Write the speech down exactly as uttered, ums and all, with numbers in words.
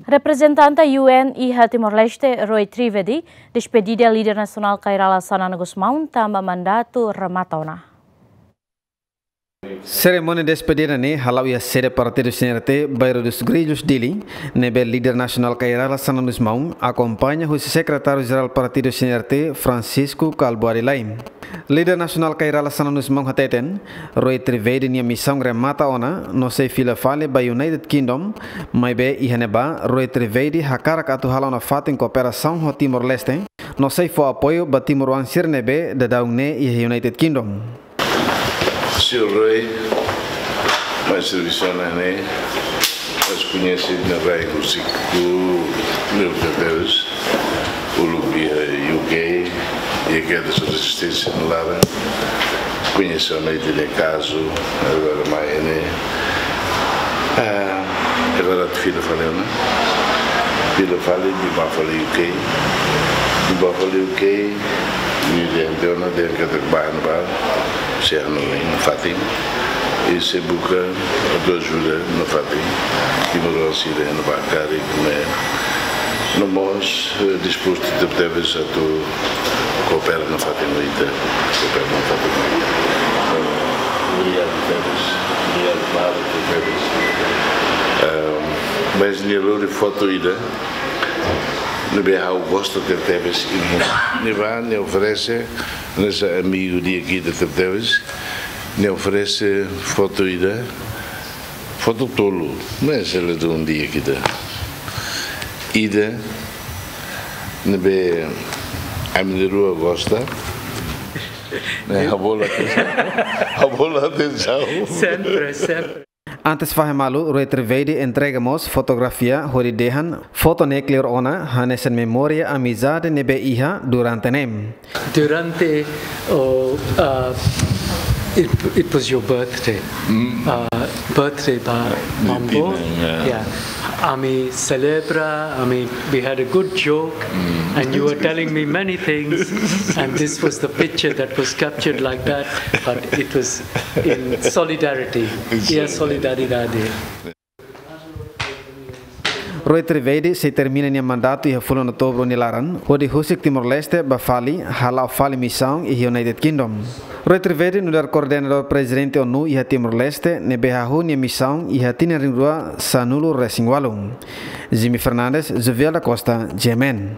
Reprezentante U N iha Timor-Leste, Rui Trivedi, despedida líder nasionál Kay Rala Xanana Gusmão tanba mandatu remata ona. Serimónia despedida ne'e hala'o iha sede partidu C N R T, Bairro dos Grillos, Dili, ne'ebé líder nasionál Kay Rala Xanana Gusmão akompaña husi sekretáriu jerál partidu C N R T, Francisco Kalbuadi Lay. Líder nasionál Kay Rala Xanana Gusmão hateten, Rui Trivedi nia misaun remata ona, no sei fila fali ba United Kingdom, maibé iha ne'ebá, Rui Trivedi hakarak atu hala'o nafatin kooperasaun ho Timor-Leste, no sei fó apoiu ba timoroan sira ne'ebé daudaun ne'e iha United Kingdom. Señór Rui, mai servisu ona ne'e, mas koñese nia rai husik, uluk tebes, uluk iha U K, iha kedas rezisténsia no laran. Koñese ona nia kazu, agora mai ne'e. Ah, agora atu fila fali ona. Fila fali, nia bá fali U K. Nia bá fali U K, nia dehan ona, dehan katak bá iha ne'ebá, sei hanoin nafatin. I sei buka ajuda nafatin. Timoroan sira iha ne'ebá karik ne'e. No mós, eh, dispostu tebetebes atu koopera nafatin ho ita. Koopera nafatin ho ita. Eh, obrigadu tebes. Obrigadu, Paulo, tebes. Ehm, mas nia lori foto ida ne'ebé ha'u gosta tebetebes. Nia bá, nia oferese, hanesan amigu di'ak ida tebetebes. Nia oferese foto ida, foto tolu, mas ladún di'ak ida. Ida ne'ebé ami na'in-rua gosta. Ne'e, ha'u bolu atensaun. Ha'u bolu atensaun. Sempre, sempre. Antes fahe malu, Rui Trivedi entrega mós fotografia hodi dehan, foto ne'e kleur ona, hanesan memória amizade ne'ebé iha durante ne'e. Durante, oh, uh, it, it was your birthday. Mm. Uh, birthday ba Mambo. Tina, yeah. Yeah. Ami selebra, ami, we had a good joke, mm, and you were telling me many things, and this was the picture that was captured like that, but it was in solidarity. In solidarity. Iha solidariedade. Rui Trivedi sei termina nia mandatu iha fulan Outubru nia laran, hodi husik Timor-Leste bá fali, hala'o fali misaun iha United Kingdom. Rui Trivedi nu'udar koordenadór prezidente ONU iha Timor-Leste, ne'ebé hahú nia misaun iha tinan rihun rua sanulu resin ualu. Jimmy Fernandes, Jovial da Costa, G M N.